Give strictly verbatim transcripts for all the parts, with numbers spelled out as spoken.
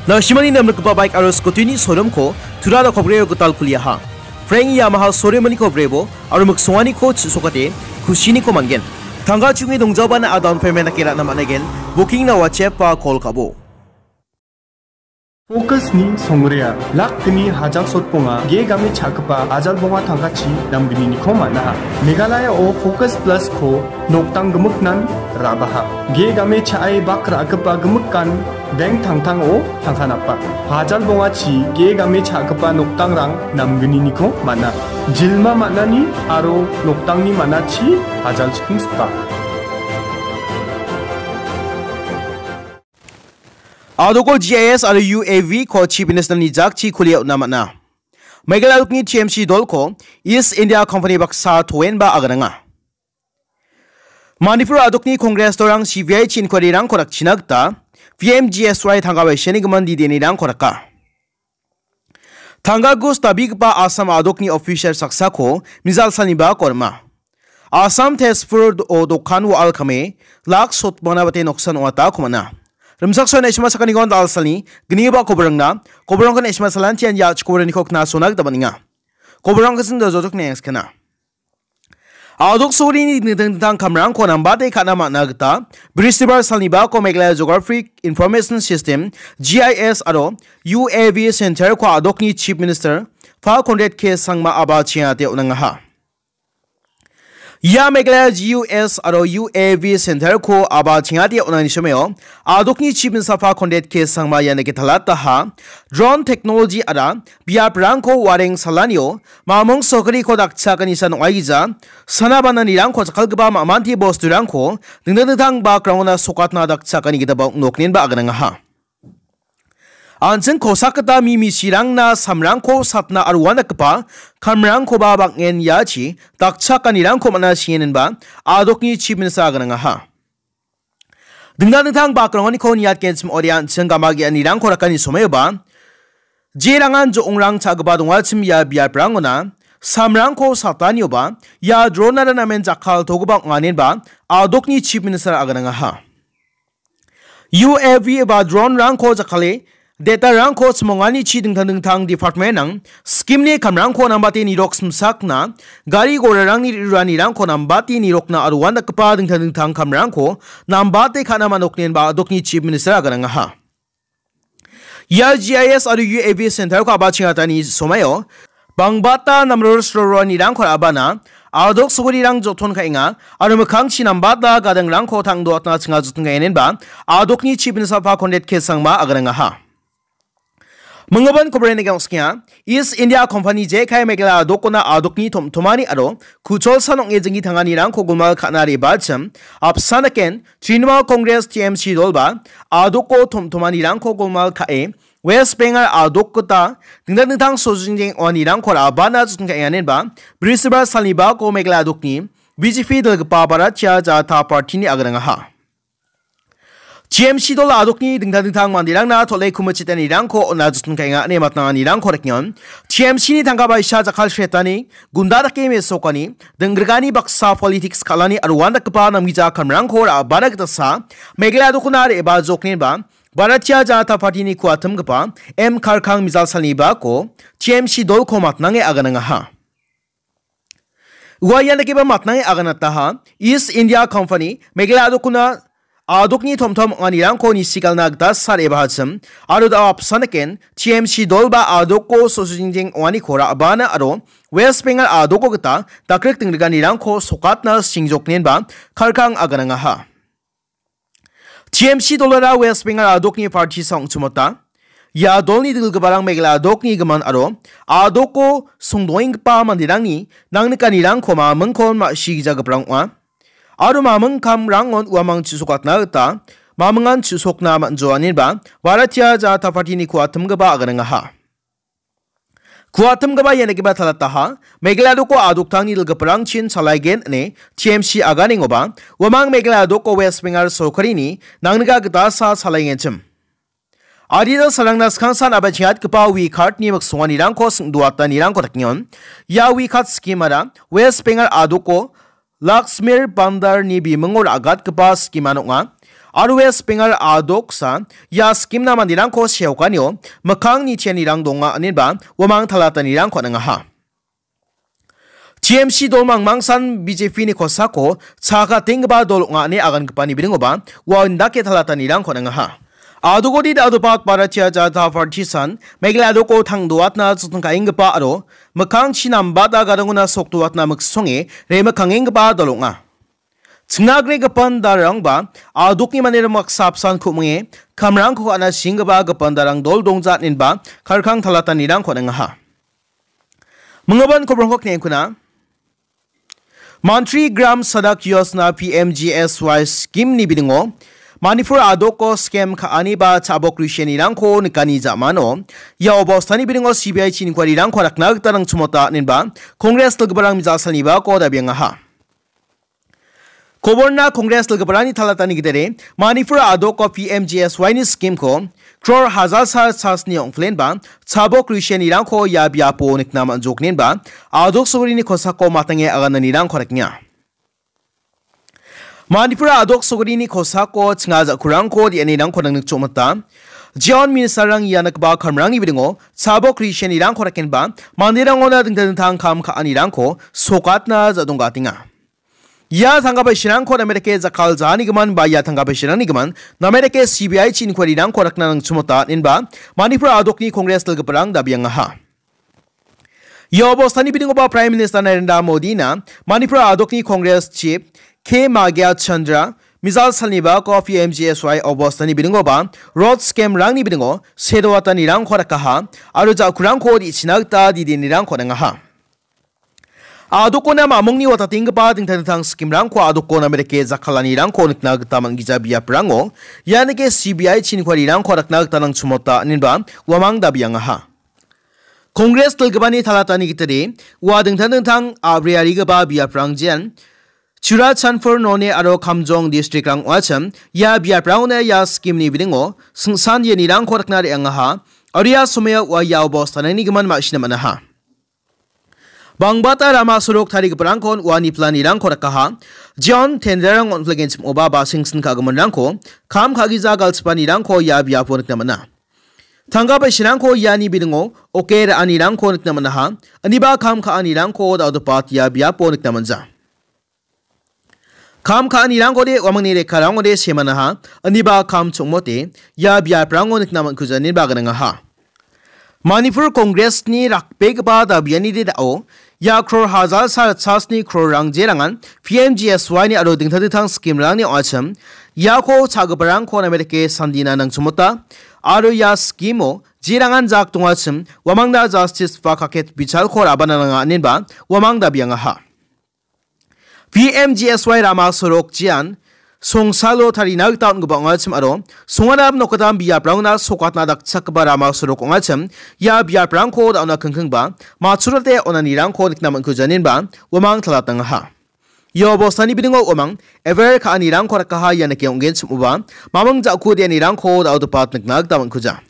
Nangsimani namrikgipa baik aro scooty-ni showroom-ko tura dakopgreo gital kuliaha. Frank Yamaha showroom-niko brebo aro miksonganiko chisokate kusiniko man·gen. Tangka chunge dongjabana a down payment dake ra·na man·aigen. Booking-na WhatsApp-a call ka·bo. Focus-ni songrea, lak gni hajal sotbonga, ge game cha·gipa hajal bonga tangkachi namgniko man·aha. Meghalaya-o Focus Plus-ko nokdang gimiknan ra·baha. Ge game cha·e bak ra·gipa gimikan bank tangtango tangka napa. Hajal bongachi ge game cha·gipa nokdangrang namgniko man·a. Jilma man·ani aro nokdangni man·achi hajal chikingsipa. Adoko G I S aro U A V-ko Chief Minister-ni jakchi kulia on·a man·a. Meghalaya adokni T M C dolko East India Company baksa toenba agananga. Manipur adokni Congress dorang C B I-chi inquiry-rangko dakchina gita P M G S Y tangka baisenigimin didenirangko daka. Tangka gus dabigipa Assam adokni official saksako mijal salniba korma. Assam Tezpur do-, dokan wa·al kame lak sotbana bate noksan ong·ata komana. Rimsak sona isma sakani gon dal salni gniba kobrangna, kobrangkan isma salantian ya chikobrani kokna sona gita baninga. Kobrang kasin da jotok ne skana. Adok sorini dingtang dingtang kamrangko nambate ka·na man·a gita, Bristibar salnibako Meghalaya Geographic Information System, G I S aro U A V Center-ko adokni Chief Minister, Fa Conrad K Sangma aba chingate on·angaha. Ia Meghalaya G U S aro U A V Center-ko aba chingate on·ani someo, adokni Chief Minister Fa Conrad K Sangma ian dake talataha, drone technology ara biaprangko wareng salanio, mamung sokriko dakchakani san ong·aigija, sana bananirangko jakkalgipa ma·manti bosturangko dingtang dingtang bakrangona sokatna dakchakani gitaba ong·noknenba aganangaha. An·ching kosakgita mi misirangna samrangko satna aro uandakgipa kamrangkoba bang·en iachi dakchakanirangko man·a sienenba adokni Chief Minister aganangaha. Dingtang dingtang bakrangoniko niatgenchim ode an·ching gama ge·anirangko rakani somoioba, jerangan jo·ongrang cha·gipa dongachim ia biaprangona samrangko satanioba, ia dronara namen jakkaltogipa ong·anenba adokni Chief Minister aganangaha. U A V ba drone-rangko jakkale, data-rangko chimonganichi dingtang dingtang department-rang scheme-ni kamrangko nambate nirok simsakna, gari gorarangni re·ruranirangko nambate nirokna aro uandakgipa dingtang dingtang kamrangko nambate ka·na man·oknenba adokni Chief Minister aganangaha. Ia G I S aro U A V center-ko a·bachengatani somaio bangbata namror sroroanirangko ra·bana adok sogorirang joton ka·enga aro mikkangchi nambata gadangrangko tangdoatna chinga joton ka·enenba adokni Chief Minister Conrad K Sangma aganangaha. Minggipan kobrena geng·skenga, East India Company jekai Meghalaya adokona adokni tom·tomani aro kucholsan ong·e jinggi tanganirangko golmal ka·na re·bachim, apsan daken Trinamool Congress T M C dolba adoko tom·tomanirangko golmal ka·e, West Bengal adok gita dingtang dingtang sojingjeng ong·anirangko ra·bana joton ka·enganenba, Bristibar salnibako Meghalaya adokni B J P dilgipa Bharatiya Janata Party-ni aganangaha. T M C dol adokni dingtang dingtang manderangna tole kumichitanirangko on·a joton ka·enga ine matnanganirangko rekengon. T M C-ni tangka baisa jakkalsetani, gunda dake mesokani, dinggrigani baksa politics kal·ani aro uandakgipa namgija kamrangko ra·bana gitasa, Meghalaya adokona re·bajoknenba, Bharatiya Janata Party-ni kuatimgipa M Kharkang mijal salnibako T M C dolko matnange aganangaha. Ua ian dakeba matnange aganataha, East India Company, Meghalaya adokona adokni tom·tom ong·anirangko nisigalna gita sal·e bahachim, aro da·o apsan daken T M C dolba adoko sojingjeng ong·aniko ra·bana aro West Bengal adoko gita dakrik dingriganirangko sokatna singjoknenba Kharkang aganangaha. T M C dolara West Bengal adokni party sa ong·chimota. Ia dolni dilgiparang Meghalaya adokni gimin aro adoko songdoenggipa manderangni nangnikanirangko mamingkon ma·sigijagiparang ong·a. Aro maming kamrangon uamang chu·sokatna gita mamingan chu·sokna man·joaniba Bharatiya Janata Party-ni kuatimgipa aganangaha. Kuatimgipa ia nikgipa talataha, Meghalaya doko adoktangni dilgiparangchin salaigen ine T M C aganengoba, uamang Meghalaya doko West Bengal sorkarini nangnika gitasa salaigenchim. Adita salangna skangsan a·bachengatgipa we card-ni miksonganirangko sing·doatanirangko dakengon. Ia we card scheme-ara West Bengal adoko Laxmir Bhandar-ni bimingo ra·gatgipa scheme-an ong·a. aro West Bengal a·doksa ia scheme-na manderangko seokanio mikkang nichianirang donga inenba uamang talatanirangko on·angaha. T M C dol mangmangsan B J P-ni kosako chakatenggipa dol ong·a ine agangipani biringoba ua indake talatanirangko on·angaha. Adogodi dadopat Bharatiya Janata Party-san Meghalaya a·doko tangdoatna jottongka·enggipa aro mikkangchi nambata gadangona sokdoatna miksonge remikkangenggipa dol ong·a. Chingna gre gipin darangba a·dokni manderang baksa apsan ku·mange kamrangko ka·na singgipa gipin darang dol dongja inenba karkang talatanirangko on·angaha. Minggipa kobrongko knenkuna. Mantri Gram Sadak Yojana P M G S Y scheme-ni biningo Manipur a·doko scam ka·ani ba chabok risenirangko nikani ja·mano ia obostani biningo C B I-chi inquiry-rangko rakna gita nangchimota inenba Congress dilgiparang mijal salnibako dabiangaha. Koborna Congress dilgiparangni talatani gittere Manipur a·doko P M G S Y-ni scheme-ko crore hajar sal chasni ong·klenba chabok risenirangko ia biapo nikna man·joknenba a·dok sogorini kosako matange agananirangko rekenga. Manipur a·dok sogorini kosako chinga ja·kurangko re·anirangko nangnikchomota. Jeon minister-rang ia nikgipa kamrangni biningo chabok risenirangko rekenba manderangona dingtang dingtang kam ka·anirangko sokatna ja·donggatenga. Ia tangka paisarangko namerike jakkaljaanigimin ba ia tangka paisarangnigimin namerike C B I-chi inquiry-rangko rakna nangchimota inenba Manipur a·dokni Congress dilgiparang dabiangaha. Ia obostani biningoba Prime Minister Narendra Modi-na Manipur a·dokni Congress Chief K Magya Chandra mijal salnibako P M G S Y obostani biningoba road scam-rangni biningo sedoatanirangko rakaha aro ja·kurangko re·china gita didenirangko on·angaha. A·dokona mamungni watatenggipa dingtang dingtang scheme-rangko a·dokona namerike jakkalanirangko nikna gita man·gija biaprango ianike C B I-chi inquiry-rangko rakna gita nangchimota inenba uamang dabiangaha. Congress dilgipani talatani gittere ua dingtang dingtang a·briarigipa biaprang jean Churachandpur, Noney aro Kamjong district-rang ong·achim ia biaprangona ia scheme-ni biningo singsan ianirangko rakna re·angaha aro ia somoio ua ia obostanangnigimin ma·sina man·aha. Bangbata rama sorok tarigiparangkon uani planirangko rakaha. Jeon tender-rang on·flegenchim oba ba singsin ka·giminrangko kam ka·gija galchipanirangko ia biapo nikna man·a. Tangka paisarangko iani biningo oke ra·anirangko nikna man·aha. Aniba kam ka·anirangko da·odopat ia biapo nikna man·ja. Kam ka·anirangkode uamangni rekkarangode semanaha, aniba kam chongmote ia biaprango nikna man·kuja ineba gnangaha. Manipur Congress-ni rakbegipa dabiani de dao ia crore hajar sa ritchasni crore-rang jerangan P M G S Y-ni aro dingtang dingtang scheme-rangni ong·achim iako cha·giparangko namerike sandina nangchimota aro ia scheme-o jerangan jak dongachim uamangna justice ba kaket bichalko rabana nanga inenba uamang dabiangaha. P M G S Y rama sorok jean songsalo tarina gita on·gipa ong·achim aro songanam nokgitam biaprangna sokatna dakchakgipa rama sorok ong·achim ia biaprangko da·ona kingkingba matchurate onanirangko nikna man·kuja inenba uamang talatangaha. Ia obostani biningo uamang ever ka·anirangko rakaha ia nike ong·genchim oba mamung ja·kude anirangko da·odopat nikna gita man·kuja.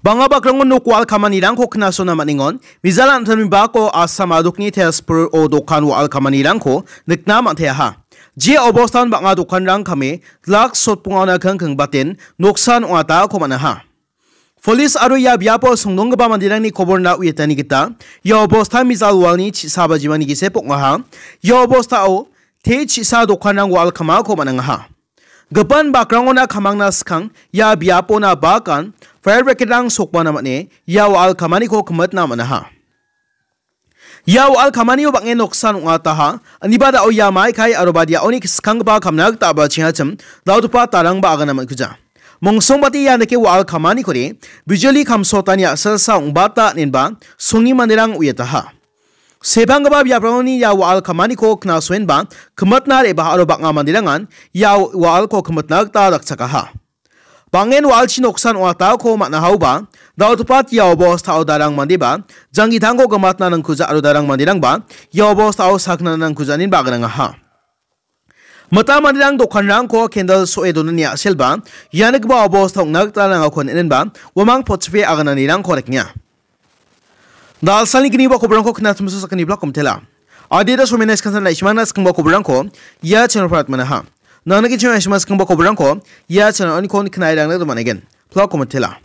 Bang·a bakrango nok wa·al kamanirangko knasona man·engon. Mijal an·tangni bako Assam a·dokni Tezpur-o dokan wa·al kamanirangko nikna man·teaha. Je obostan bang·a dokanrang kame lak sotbongaona kingkingbaten noksan ong·atako man·aha. Polis aro ia biapo songdonggipa manderangni koborna uiatani gita ia obostan mijal walni chi·sa bajimani gisep ong·aha. Ia obostao te chi·sa dokanrang wa·al kamako man·angaha. Gipin bakrangona kamangna skang ia biapona bakan fire brigade-rang sokbana man·e ia wa·al kamaniko kimitna man·aha. Ia wa·al kamanio bang·en noksan ong·ataha, aniba da·o ia maikai aro badiaoni skanggipa kamna gita a·bachengachim dal·gipa tarangba agana man·kuja. Mongsongbate ia dake wa·al kamanikode bijoli kamsotani a·salsa ong·bata inenba songni manderang uiataha. Sebanggipa biaprangoni ia wa·al kamaniko knasoenba kimitna re·baa aro bang·a manderangan ia wa·alko kimitna gita dakchakaha. Bang·en wa·alchi noksan ong·atako man·ahaoba, dal·gipa ia obostao darang mandeba janggitangko gimatna nangkuja aro darang manderangba ia obostao sakna nangkuja inenba aganangaha. Mita manderang dokanrangko kendal so·e donani a·selba, ia nikgipa obosta ong·na gita nangako on·enba, uamang potchipe agananirangko rekenga. Dalsalni gniba koborangko knatimso sakgni blak komtela. Adita somena skansan naismana skangba koborangko ia channel parat manaha. Nangni giching S M S kenggipa kobrangko ia channel-oniko nikna gita man·aigen. Pla komitela.